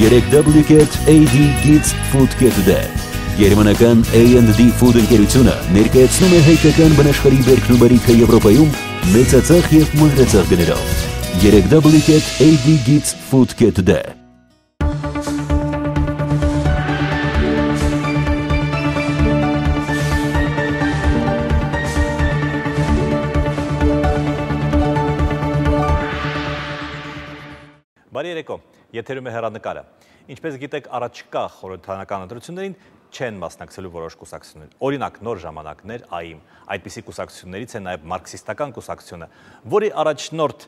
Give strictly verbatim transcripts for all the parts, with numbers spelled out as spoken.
երեք Duplicate A D Kids Food Kit-ը։ Գերմանական A and D Food ընկերությունը ներկայացնում է հայկական բնաշխարհի բերքն ու բարիքը Եվրոպայում մեծածախ և մանրածախ գներով։ երեք Duplicate A D Kids Food Kit-ը։ Բարի երեկո, եթերում է հեռանկարը։ Ինչպես գիտեք, առաջիկա խորհրդարանական ընտրություններին չեն մասնակցելու որոշ կուսակցություններ։ Օրինակ, նոր ժամանակներ ԱԻՄ, այդպիսի կուսակցություններից է նաև մարքսիստական կուսակցությունը, որի առաջնորդ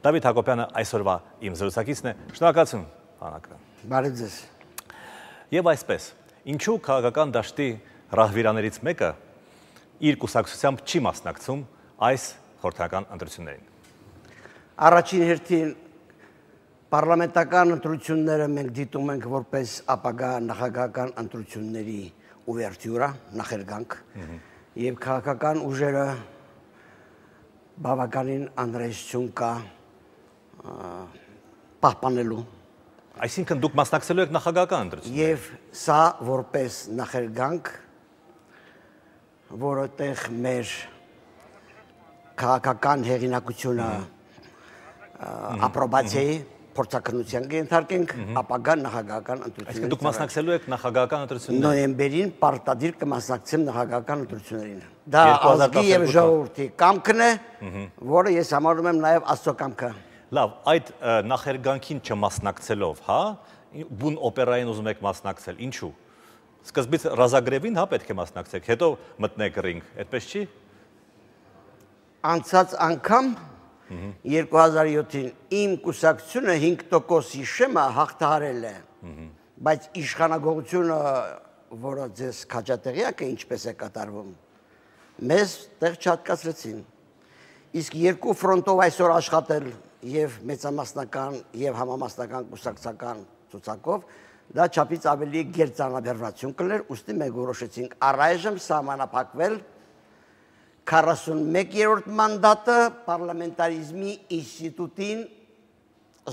Դավիթ Հակոբյանը այսօրվա իմ զրուցակիցն է։ Շնորհակալություն, պարոն Հակոբյան։ Բարև ձեզ։ Եվ այսպես, ինչու քաղաքական դաշտի ռահվիրաներից մեկը իր կուսակցությամբ չի մասնակցում այս խորհրդարանական ընտրություններին։ Առաջին հերթին Պարլամենտական ընտրությունները մենք դիտում ենք որպես ապագա նախագահական ընտրությունների ուվերտյուրա, նախերգանք, եւ քաղաքական ուժերը բավականին անհրաժեշտություն կա պահպանելու։ Այսինքն դուք մասնակցելու եք նախագահական ընտրություններին։ Եվ սա որպես նախերգանք, որովհետեւ մեր քաղաքական հեղինակությունը ապրոբացիայի փորձակնության կենթարկենք ապագա նախագահական ընտրություններին։ Այսինքն դուք մասնակցելու եք նախագահական ընտրություններին։ Նոյեմբերին պարտադիր կմասնակցեմ նախագահական ընտրություններին։ Դա ազգի եւ ժողովրդի կամքն է, որը ես համարում եմ նաեւ Աստծո կամքը։ Լավ, այդ նախերգանքին չմասնակցելով, հա, բուն օպերային ուզում եք մասնակցել, ինչու։ Սկզբից ռազագրևին հա պետք է մասնակցեք, հետո մտնեք ռինգ, այդպես չի։ Անցած անգամ երկու հազար յոթին իմ կուսակցությունը հինգ տոկոսի շեմը հաղթահարել է, բայց իշխանագողությունը, որը ձեզ քաջատեղյակ է ինչպես է կատարվում, մեզ տեղ չհատկացրեցին։ Իսկ երկու ֆրոնտով այսօր աշխատել եւ մեծամասնական եւ համամասնական կուսակցական ցուցակով դա չափից ավելի գերծանրաբեռնություն կլեր, ուստի մենք որոշեցինք առայժմ սահմանափակվել քառասունմեկերորդ մանդատը պարլամենտարիզմի ինստիտուտին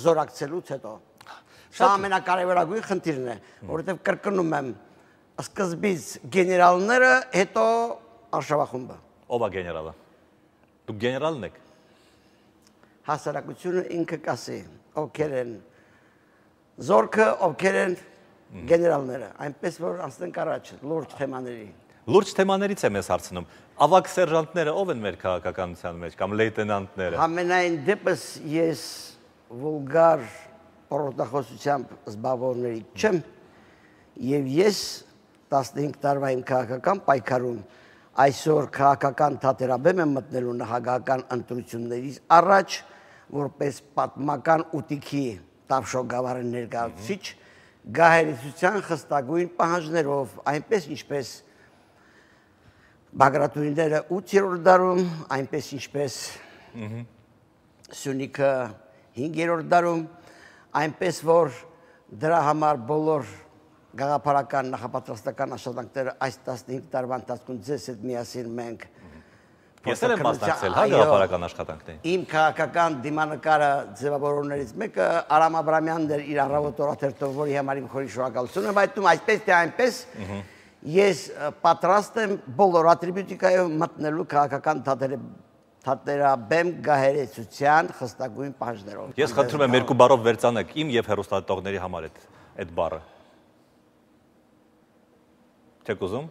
զորակցելուց հետո։ Սա ամենակարևորագույն խնդիրն է, որովհետև կրկնում եմ, սկզբից գեներալները, հետո արշավախումբը։ Ով է գեներալը։ Դուք գեներալն եք։ Հասարակությունը ինքը կասի, ովքեր են զորքը, ովքեր են գեներալները, այնպես որ անցնենք առաջ լուրջ թեմաների։ Լուրջ թեմաներից եմ ես հարցնում։ Ավագ սերժանտները ով են մեր քաղաքականության մեջ կամ լեյտենանտները։ Համենայն դեպս ես վուլգար պորոտախոսությամբ զբաղվողների չեմ եւ ես տասնհինգ տարվա իմ քաղաքական պայքարում այսօր քաղաքական թատերաբեմ եմ մտնելու նախագահական ընտրություններից առաջ որպես պատմական ուտիքի Տավշո գավառի ներկայացուցիչ գահերիցության խստագույն պահանջներով, այնպես ինչպես Բագրատունիները ութերորդ դարում, այնպես ինչպես Սյունիքը հինգերորդ դարում, այնպես որ դրա համար բոլոր գաղափարական նախապատրաստական աշխատանքները այս տասնհինգ տարվա ընթացքում ձեզ հետ միասին մենք Ես եմ մասնակցել հա գաղափարական աշխատանքներին։ Իմ քաղաքական դիմանկարը ձևավորողներից մեկը Արամ Աբրամյանն էր իր առավոտ օրաթերթով, որի համար իմ խորի շնորհակալություն եմ հայտնում, այսպես թե այնպես ես պատրաստ եմ բոլոր ատրիբյուտիկայով մտնելու քաղաքական թատերաբեմ գահերեցության խստագույն պահանջներով։ Ես խնդրում եմ երկու բառով վերցանեք իմ եւ հեռուստադիտողների համար այդ բառը։ Չեք ուզում։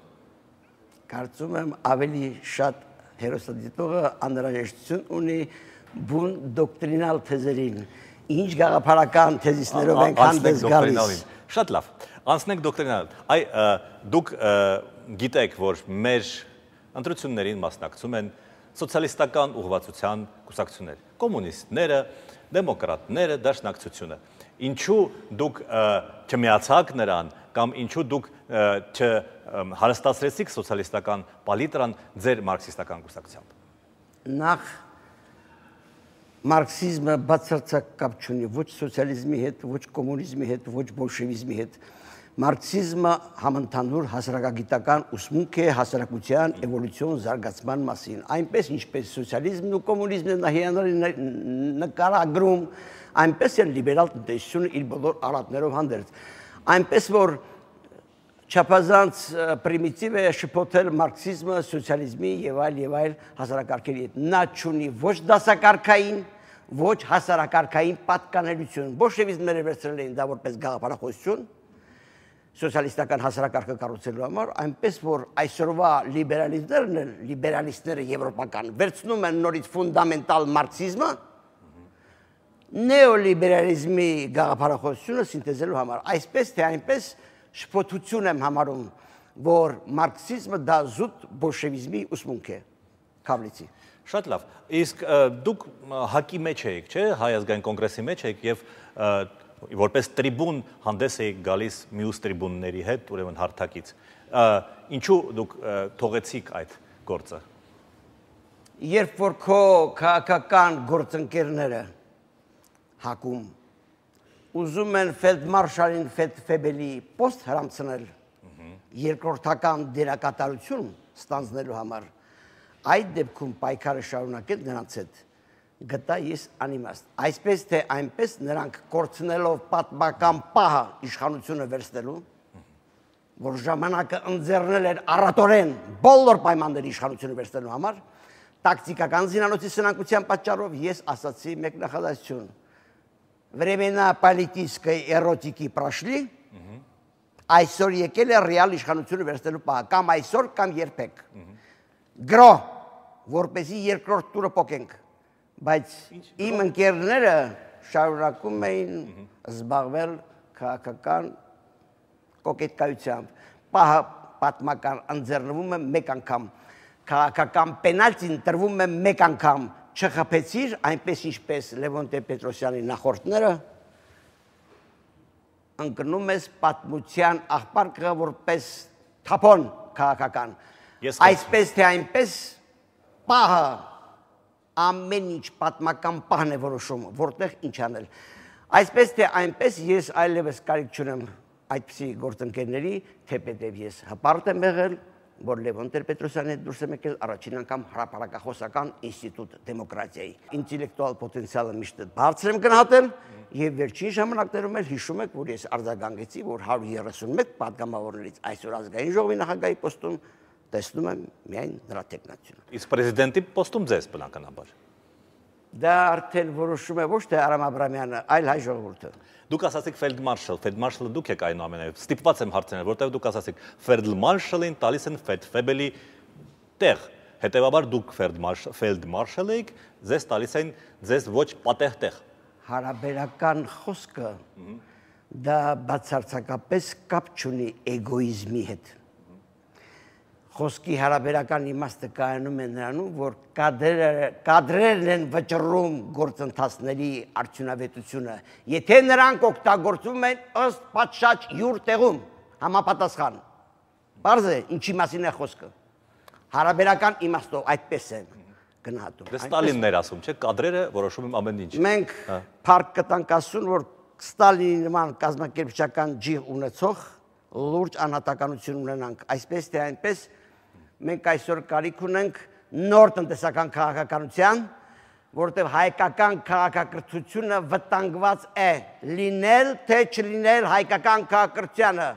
Կարծում եմ ավելի շատ հեռուստադիտողը անհրաժեշտություն ունի բուն դոկտրինալ թեզերին, ինչ գաղափարական թեզիսներով ենք հանդես գալիս։ Շատ լավ, անցնենք դոկտրինալ։ Այ դուք գիտեք, որ մեր ընտրություններին մասնակցում են սոցիալիստական ուղղվածության կուսակցություններ, կոմունիստները, դեմոկրատները, դաշնակցությունը։ Ինչու դուք չմիացաք նրան կամ ինչու դուք չհարստացրեցիք սոցիալիստական պալիտրան ձեր մարքսիստական կուսակցությամբ։ Նախ մարքսիզմը բացարձակ կապ չունի ոչ սոցիալիզմի հետ, ոչ կոմունիզմի հետ, ոչ բոլշևիզմի հետ։ Մարքսիզմը համընդհանուր հասարակագիտական ուսմունք է հասարակության էվոլյուցիոն զարգացման մասին, այնպես ինչպես սոցիալիզմն ու կոմունիզմն են նկարագրում, այնպես էլ լիբերալ տնտեսությունը իր բոլոր արատներով հանդերձ, այնպես որ չափազանց պրիմիտիվ է շփոթել մարքսիզմը սոցիալիզմի եւ այլ եւ այլ հասարակարգերի հետ, նա չունի ոչ դասակարգային, ոչ հասարակարգային պատկանելություն, բոլշևիզմները վերցրել էին դա որպես գաղափարախոսություն սոցիալիստական հասարակարգը կառուցելու համար, այնպես որ այսօրվա լիբերալիստներն են, լիբերալիստները եվրոպական, վերցնում են նորից ֆունդամենտալ մարքսիզմը, նեոլիբերալիզմի գաղափարախոսությունը սինթեզելու համար, այսպես թե այնպես շփոթություն եմ համարում, որ մարքսիզմը դա զուտ բոլշևիզմի ուսմունք է, Քավլիցի։ Շատ լավ, իսկ դուք հակի մեջ եք, չէ, Հայ ազգային կոնգրեսի մեջ եք եւ որպես տրիբուն հանդես եք գալիս մյուս տրիբունների հետ, ուրեմն հարթակից։ Ինչու դուք թողեցիք այդ գործը։ Երբ որ քո քաղաքական գործընկերները հակում ուզում են ֆելդմարշալին Ֆեդֆեբելի պոստ հրամցնել երկրորդական դերակատարություն ստանձնելու համար, այդ դեպքում պայքարը շարունակել նրանց հետ գտա ես անիմաստ, այսպես թե այնպես նրանք կորցնելով պատմական պահը իշխանությունը վերցնելու, որ ժամանակը ընձեռնել էր առատորեն բոլոր պայմանների իշխանությունը վերցնելու համար, տակտիկական զինանոցի սնանկության պատճառով ես ասացի մեկ նախադասություն. Времена политической эротики прошли, այսօր եկել է ռեալ իշխանությունը վերցնելու պահը, կամ այսօր, կամ երբեք։ Գրո, որպեսզի երկրորդ տուրը փոխենք, բայց իմ ընկերները շարունակում էին զբաղվել քաղաքական կոկետկայությամբ, պահը պատմական ընձեռնվում է մեկ անգամ, քաղաքական պենալտին տրվում է մեկ անգամ, չխփեցիր, այնպես ինչպես Լևոն Տեր-Պետրոսյանի նախորդները, ընկնում ես պատմության աղբարկը որպես թափոն քաղաքական, այսպես թե այնպես պահը ամեն ինչ պատմական պահն է որոշում, որտեղ ինչ անել, այսպես թե այնպես ես այլևս կարիք չունեմ այդպիսի գործընկերների, թեպետև ես հպարտ եմ եղել, որ Լևոն Տեր-Պետրոսյանի հետ դուրս եմ եկել առաջին անգամ հրապարակախոսական ինստիտուտ դեմոկրատիայի։ Ինտելեկտուալ պոտենցիալը միշտ բարձր եմ գնահատել եւ վերջին ժամանակներում էլ հիշում եք, որ ես արձագանքեցի, որ հարյուր երեսունմեկ պատգամավորներից այսօր ազգային ժողովի նախագահի պոստում տեսնում եմ միայն նրա տեխնացիությունը։ Իսկ պրեզիդենտի պոստում ձեզ բնականաբար։ Դա արդեն որոշում է ոչ թե Արամ Աբրամյանը, այլ հայ ժողովուրդը։ Դուք ասացիք ֆելդմարշալ, ֆելդմարշալը դուք եք այնուամենայնիվ, ստիպված եմ հարցնել, որտեղ դուք ասացիք ֆելդմարշալին տալիս են Ֆեդֆեբելի տեղ, հետևաբար դուք ֆելդմարշալ եք, ձեզ տալիս են ձեզ ոչ պատեհ տեղ։ Հարաբերական խոսքը դա բացարձակապես կապ չունի էգոիզմի հետ։ Խոսքի հարաբերական իմաստը կայանում է նրանում, որ կադրերն են վճռում գործընթացների արդյունավետությունը, եթե նրանք օգտագործվում են ըստ պատշաճ յուր տեղում, համապատասխան։ Պարզ է, ինչի մասին է խոսքը։ Հարաբերական իմաստով այդպես է գնահատում։ Դե Ստալինն էր ասում, չէ՞, կադրերը որոշում են ամեն ինչ։ Մենք փառք կտանք ասուն, որ Ստալինի նման կազմակերպչական ջիղ ունեցող լուրջ անհատականություն ունենանք, այսպես թե այնպես մենք այսօր կարիք ունենք նոր տնտեսական քաղաքականության, որտեղ հայկական քաղաքակրթությունը վտանգված է լինել, թե չլինել հայկական քաղաքակրթությանը։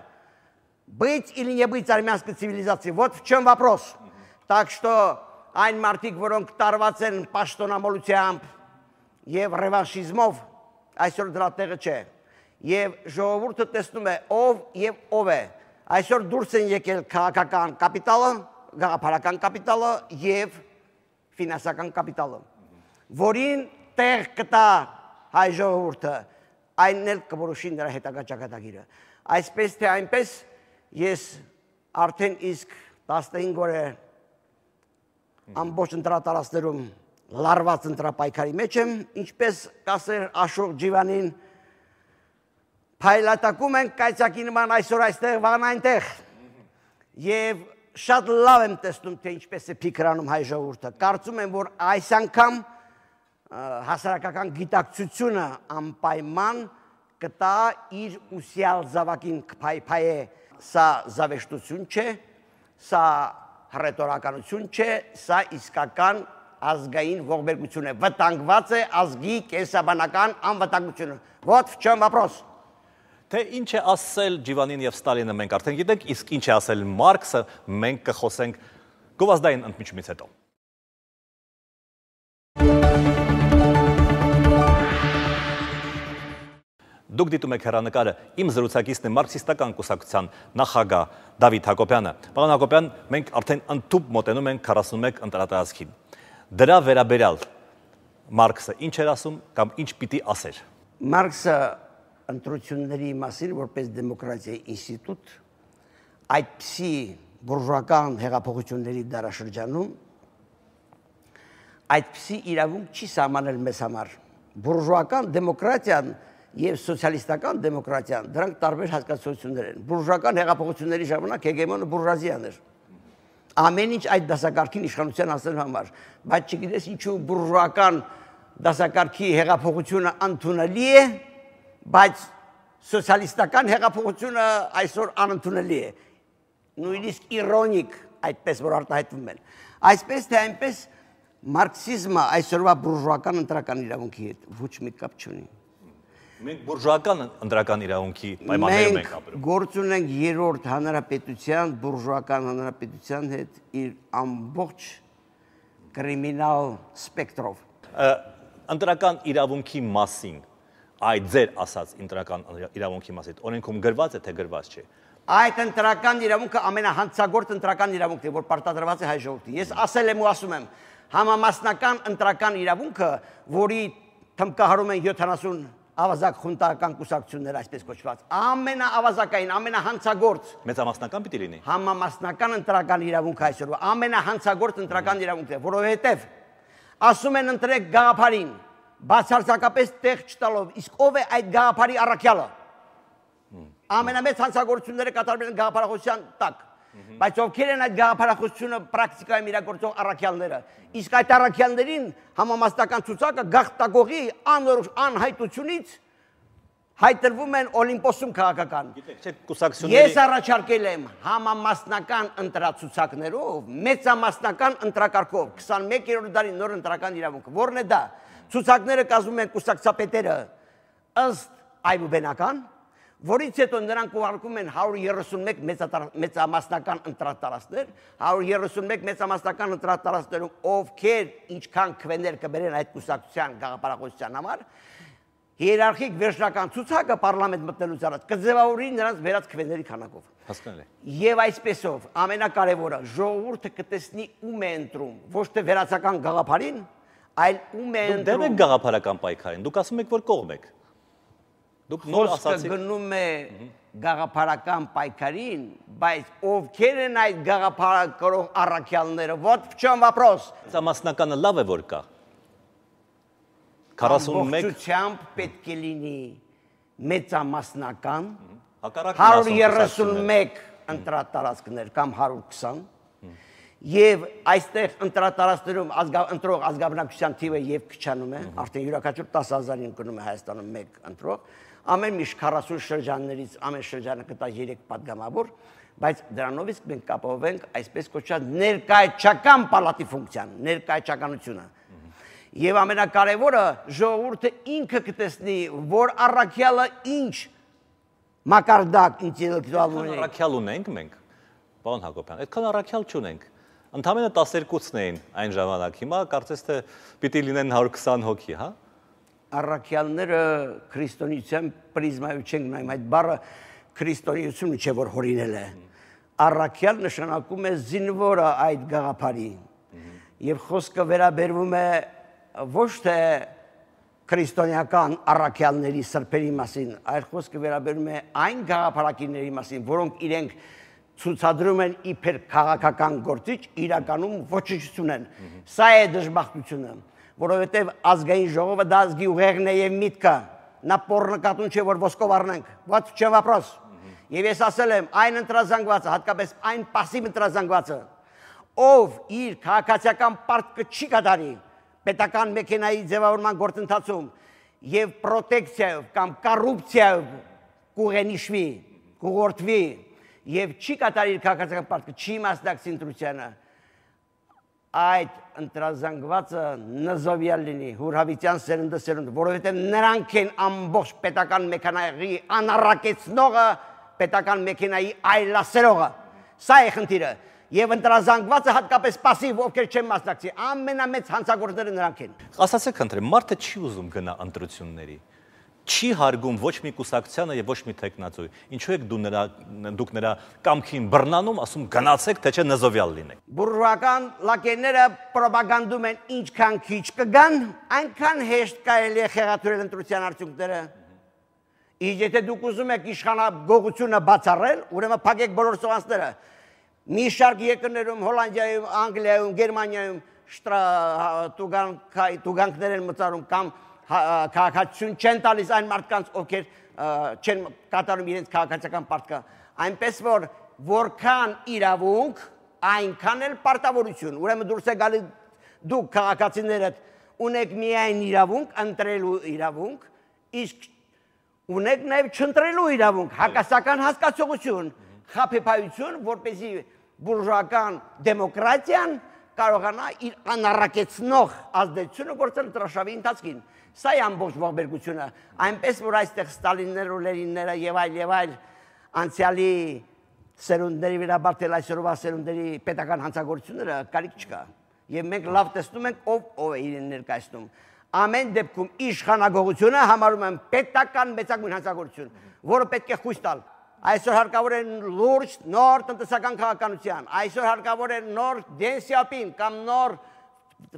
Быть или не быть армянской цивилизации, вот в чем вопрос. Так что այն մարդիկ, որոնք տարված են պաշտոնամոլությամբ եւ ռևանշիզմով, այսօր դրա տեղը չէ։ Եվ ժողովուրդը տեսնում է ով եւ ով է։ Այսօր դուրս են եկել քաղաքական կապիտալը, գաղափարական կապիտալը եւ ֆինանսական կապիտալը, որին տեղ կտա հայ ժողովուրդը, այնն էլ կորոշի նրա հետագա ճակատագիրը։ Այսպես թե այնպես ես արդեն իսկ տասնհինգ օր է ամբողջ ընտրատարածքներում լարված ընտրապայքարի մեջ եմ, ինչպես կասեր Աշոտ Ջիվանին, փայլատակում ենք կայծակի նման այսօր այստեղ, վաղն այնտեղ։ Եվ շատ լավ եմ տեսնում, թե ինչպես է փիքրանում հայ ժողովուրդը։ Կարծում եմ, որ այս անգամ հասարակական գիտակցությունը անպայման կտա իր ուսյալ զավակին կփայփայե, սա զավեշտություն չէ, սա հռետորականություն չէ, սա իսկական ազգային ողբերգություն է, վտանգված է ազգի կենսաբանական անվտանգությունը։ Вот в чем вопрос։ Թե ինչ է ասել Ջիվանին եւ Ստալինը մենք արդեն գիտենք, իսկ ինչ է ասել Մարքսը մենք կխոսենք գովազդային ընդմիջումից հետո։ Դուք դիտում եք հեռանկարը, իմ զրուցակիցն է մարքսիստական կուսակցության նախագահ Դավիթ Հակոբյանը։ Պարոն Հակոբյան, մենք արդեն ընդཐུպ մոտենում ենք քառասունմեկ ընտրատարածքին։ Դրա վերաբերյալ Մարքսը ինչ էր ասում կամ ինչ պիտի ասեր։ Մարքսը ընտրությունների մասին որպես դեմոկրատիայի ինստիտուտ այդպիսի բուրժուական հեղափոխությունների դարաշրջանում այդպիսի իրավունք չի սահմանել մեզ համար։ Բուրժուական դեմոկրատիան եւ սոցիալիստական դեմոկրատիան դրանք տարբեր հասկացություններ են։ Բուրժուական հեղափոխությունների ժամանակ հեգեմոնը բուրժուազիան էր։ Ամեն ինչ այդ դասակարգին իշխանության հասնելու համար, բայց չգիտես ինչու բուրժուական դասակարգի հեղափոխությունը ընդունելի է, բայց սոցիալիստական հեղափոխությունը այսօր անընդունելի է։ Նույնիսկ իրոնիկ այդպես որ արտահայտվում են։ Այսպես թե այնպես մարքսիզմը այսօրվա բուրժուական ընտրական իրավունքի հետ ոչ մի կապ չունի։ Մենք բուրժուական ընտրական իրավունքի պայմաններում ենք ապրում։ Մենք գործ ունենք երրորդ հանրապետության, բուրժուական հանրապետության հետ իր ամբողջ կրիմինալ սպեկտրով։ Ընտրական իրավունքի մասին, այդ ձեր ասած ընտրական իրավունքի մասին, օրենքում գրված է թե գրված չէ։ Այդ ընտրական իրավունքը ամենահանցագործ ընտրական իրավունքն է, որ պարտադրված է հայ ժողովրդին։ Ես ասել եմ ու ասում եմ, համամասնական ընտրական իրավունքը, որի թմկահարում են յոթանասուն ավազակ խունտական կուսակցություններ, այսպես կոչված, ամենաավազակային, ամենահանցագործ մեծամասնական պիտի լինի։ Համամասնական ընտրական իրավունքը այսօրվա ամենահանցագործ ընտրական իրավունքն է, որովհետև ասում են ընտրեք գաղափարին, բացարձակապես տեղ չտալով, իսկ ով է այդ գաղափարի առաքյալը։ Ամենամեծ հանցագործությունները կատարվել են գաղափարախոսության տակ, բայց ովքեր են այդ գաղափարախոսությունը պրակտիկայում իրագործող առաքյալները։ Իսկ այդ առաքյալներին համամասնական ցուցակը գաղտագողի անհայտությունից հայտնվում են Օլիմպոսում քաղաքական։ Ես առաջարկել եմ համամասնական ընտրացուցակներով, մեծամասնական ընտրակարգով, քսանմեկերորդ դարի նոր ընտրական իրավունքը, որն է դա։ Ցուցակները կազմում են կուսակցապետերը ըստ այբուբենական, որից հետո նրանք ուղարկում են հարյուր երեսունմեկ մեծամասնական ընտրատարածքներ, հարյուր երեսունմեկ մեծամասնական ընտրատարածքներում ովքեր ինչքան քվեներ կբերեն այդ կուսակցության գաղափարախոսության համար, հիերարխիկ վերջնական ցուցակը պարլամենտ մտնելուց առաջ կձևավորի նրանց վերած քվեների քանակով։ Հասկանալի։ Եվ այսպեսով ամենակարևորը ժողովուրդը կտեսնի ում է ընտրում, ոչ թե վերացական գաղափարին, այլ ում է ընտրում։ Դուք դեմ եք գաղափարական պայքարին, դուք ասում եք, որ կողմ եք։ Դուք նոր ասացիք գնում է գաղափարական պայքարին, բայց ովքեր են այդ գաղափարակրող առաքյալները, вот в чем вопрос։ Մեծամասնականը լավ է որ կա։ քառասունմեկ ամբողջությամբ պետք է լինի մեծամասնական, հակառակն հարյուր երեսունմեկ ընտրատարածքներ կամ հարյուր քսան, եւ այստեղ ընտրատարածքներում ընտրող ազգաբնակչության թիվը եւ քչանում է, արդեն յուրաքանչյուր տասը հազարին կնում է Հայաստանում մեկ ընտրող, ամեն միշտ քառասուն շրջաններից ամեն շրջանը կտա երեք պատգամավոր, բայց դրանով իսկ մենք կապահովենք այսպես կոչված ներկայացական պալատի ֆունկցիան, ներկայացականությունը։ Եվ ամենակարևորը ժողովուրդը ինքը կտեսնի, որ առաքյալը ինչ մակարդակ ինտելեկտուալ ունի։ Առաքյալ ունենք մենք, պարոն Հակոբյան, այդքան առաքյալ չունենք։ Ընդամենը տասներկուսն էին այն ժամանակ, հիմա կարծես թե պիտի լինեն հարյուր քսան հոգի, հա։ Առաքյալները քրիստոնեության պրիզմայով չենք նայում, այդ բառը քրիստոնեությունը չէ որ հորինել է։ Առաքյալ նշանակում է զինվորը այդ գաղափարի։ Եվ խոսքը վերաբերվում է ոչ թե քրիստոնեական առաքյալների սրբերի մասին, այլ խոսքը վերաբերում է այն գաղափարակիրների մասին, որոնք իրենք ցուցադրում են իբր քաղաքական գործիչ, իրականում ոչնչություն են։ Սա է դժբախտությունը, որովհետև ազգային ժողովը դա ազգի ուղեղն է եւ միտքը, նա պոռնկատուն չէ, որ ոսկով առնենք, вот в чем вопрос։ Եվ ես ասել եմ, այն ընտրազանգվածը, հատկապես այն пассив ընտրազանգվածը, ով իր քաղաքացիական պարտքը չի կատարի պետական մեքենայի ձևավորման գործընթացում եւ պրոտեկցիայով կամ կոռուպցիայով կուղենիշվի, կուղորդվի եւ չի կատարի իր քաղաքական պարտքը, չի մասնակցի ընտրությանը, այդ ընտրազանգվածը նզովյալ լինի, Հուրհավիտյան սերունդը սերունդը, որովհետև նրանք են ամբողջ պետական մեքենայի անառակեցնողը, պետական մեքենայի այլասերողը, սա է խնդիրը, եւ ընտրազանգվածը հատկապես պասիվ, ովքեր չեն մասնակցի, ամենամեծ հանցագործները նրանք են։ Ասացեք խնդրեմ, մարդը չի ուզում գնա ընտրությունների, չի հարգում ոչ մի կուսակցությանը եւ ոչ մի տեխնացուի։ Ինչու եք դու նրա դուք նրա կամքին բռնանում, ասում գնացեք, թե չէ նզովյալ լինեք։ Բուրժուական լակերները պրոպագանդում են ինչքան քիչ կգան, այնքան հեշտ կարելի է խեղաթյուրել ընտրության արդյունքները։ Իսկ եթե դուք ուզում եք իշխանագողությունը բացառել, ուրեմն փակեք բոլոր սողանցները։ Մի շարք երկրներում, Հոլանդիայում, Անգլիայում, Գերմանիայում տուգանքներ են մտարում կամ քաղաքացիություն չեն տալիս այն մարդկանց, ովքեր չեն կատարում իրենց քաղաքացիական պարտքը, այնպես որ որքան իրավունք, այնքան էլ պարտավորություն, ուրեմն դուրս է գալի դուք քաղաքացիներդ ունեք միայն իրավունք, ընտրելու իրավունք, իսկ ունեք նաև չընտրելու իրավունք, հակասական հասկացողություն, խաբեբայություն, որպեսզի բուրժուական դեմոկրատիան կարողանա իր անառակեցնող ազդեցությունը գործել դրաշավի ընթացքին։ Սա է ամբողջ ողբերգությունը, այնպես որ այստեղ Ստալինները, Լենինները եւ այլ եւ այլ անցյալի սերունդների վերաբերել այսօրվա սերունդների պետական հանցագործությունները կարիք չկա։ Եվ մենք լավ տեսնում ենք ով ով է իրեն ներկայացնում։ Ամեն դեպքում իշխանագողությունը համարում են պետական մեծագույն հանցագործություն, որը պետք է խույս տալ։ Այսօր հարկավոր է լուրջ նոր տնտեսական քաղաքականության, այսօր հարկավոր է նոր Դեն Սիապին կամ նոր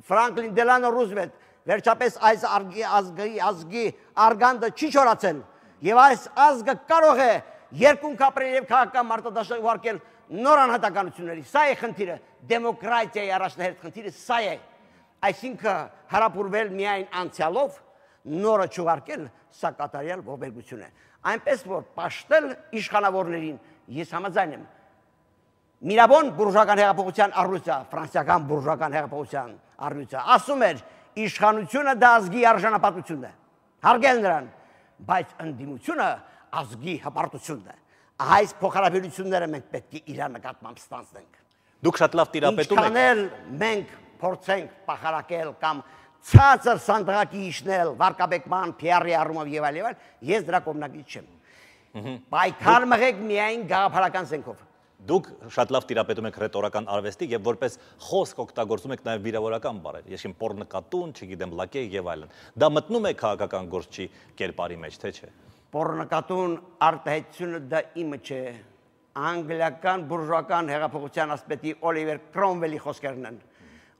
Ֆրանկլին Դելանո Ռուզվելտ, վերջապես այս ազգի ազգի արգանդը չի չորացել եւ այս ազգը կարող է երկունք ապրել եւ քաղաքական մարտադաշտ ուղարկել նոր անհատականությունների։ Սա է խնդիրը, դեմոկրատիայի առաջնահերթ խնդիրը սա է։ Այսինքն հարապուրվել միայն անցյալով, նորը չուղարկել, սա կատարյալ ողբերգություն է։ Այնպես որ պաշտել իշխանավորներին ես համաձայն եմ։ Միրաբոն բուրժուական հեղափոխության առույցը, ֆրանսիական բուրժուական հեղափոխության առույցը ասում էր իշխանությունը դա ազգի արժանապատվությունն է, հարգել նրան, բայց ընդդիմությունը ազգի հպարտությունն է։ Այս փոխհարաբերությունները մենք պետք է իր նկատմամբ ստանձնենք։ Դուք շատ լավ տիրապետում եք։ Ինչքան էլ մենք փորձենք փախարակել կամ ցածր սանդղակի իշնել վարկաբեկման, Փի Արի առումով եւ այլ եւ այլ, ես դրա կողմնակից չեմ։ Պայքար մղեք միայն գաղափարական զենքով։ Դուք շատ լավ տիրապետում եք ռետորական արվեստի եւ որպես խոսք օգտագործում եք նաեւ վիրավորական բառեր, այսինքն պոռնկատուն, չգիտեմ, լակե եւ այլն։ Դա մտնում է քաղաքական գործչի կերպարի մեջ, թե չէ։ Պոռնկատուն արտահայտությունը դա իմը չէ։ Անգլիական բուրժուական հեղափոխության ասպետի Օլիվեր Կրոմվելի խոսքերն են։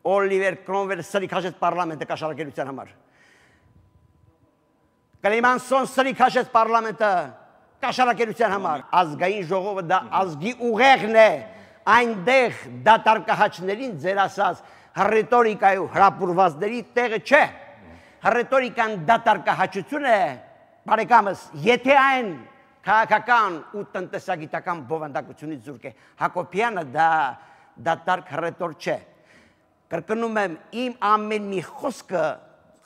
Օլիվեր Կրոմվելը սրիքաշեց պարլամենտը կաշառակերության համար։ Կլիմանսոն սրիքաշեց պարլամենտը կաշառակերության համար։ Ազգային ժողովը դա ազգի ուղեղն է, այնտեղ դատարկահաչներին ձեր ասած ռետորիկայով հրապուրվածների տեղը չէ։ Ռետորիկան դատարկահաչություն է, բարեկամս, եթե այն քաղաքական ու տնտեսագիտական բովանդակությունից զուրկ է, Հակոբյանը դա դատարկ ռետոր չէ։ Կրկնում եմ, իմ ամեն մի խոսքը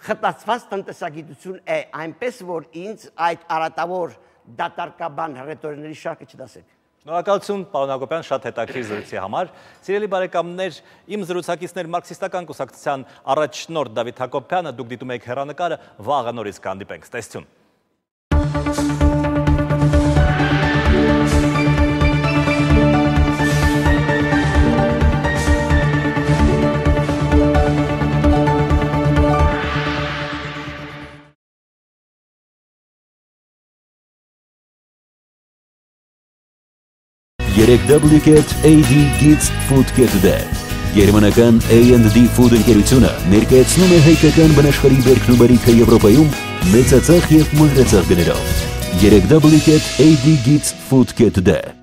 խտացված տնտեսագիտություն է, այնպես որ ինձ այդ արատավոր դատարկաբան ռետորների շարքը չդասեք։ Շնորհակալություն, պարոն Հակոբյան, շատ հետաքրքիր զրույցի համար։ Սիրելի բարեկամներ, իմ զրուցակիցներ Մարքսիստական կուսակցության առաջնորդ Դավիթ Հակոբյանը, դուք դիտում եք հեռանկարը, վաղը նորից կհանդիպենք, տեսություն։ երեք դաբլյու կետ էյ դի Gets Food Get Today։ Գերմանական A and D Food ընկերությունը ներկայացնում է հայկական բնաշխարհի բերքն ու բարիքը Եվրոպայում մեծածախ և մանրածախ գներով։ երեք դաբլյու կետ էյ դի Gets Food Get Today։